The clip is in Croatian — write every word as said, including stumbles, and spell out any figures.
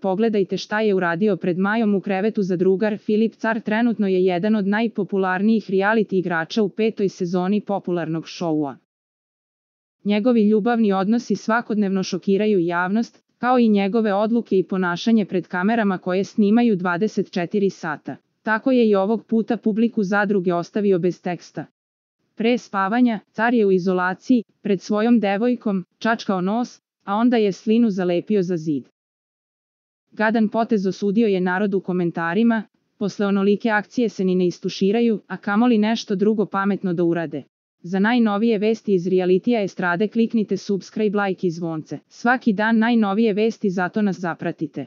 pogledajte šta je uradio pred Majom u krevetu za drugar. Filip Car trenutno je jedan od najpopularnijih reality igrača u petoj sezoni popularnog šoua. Njegovi ljubavni odnosi svakodnevno šokiraju javnost, kao i njegove odluke i ponašanje pred kamerama koje snimaju dvadeset četiri sata. Tako je i ovog puta publiku Zadruge ostavio bez teksta. Pre spavanja, Car je u izolaciji, pred svojom devojkom, čačkao nos, a onda je slinu zalepio za zid. Gadan potez osudio je narod u komentarima, posle onolike akcije se ni ne istuširaju, a kamoli nešto drugo pametno da urade. Za najnovije vesti iz realitija estrade kliknite subscribe, like i zvonce. Svaki dan najnovije vesti, zato nas zapratite.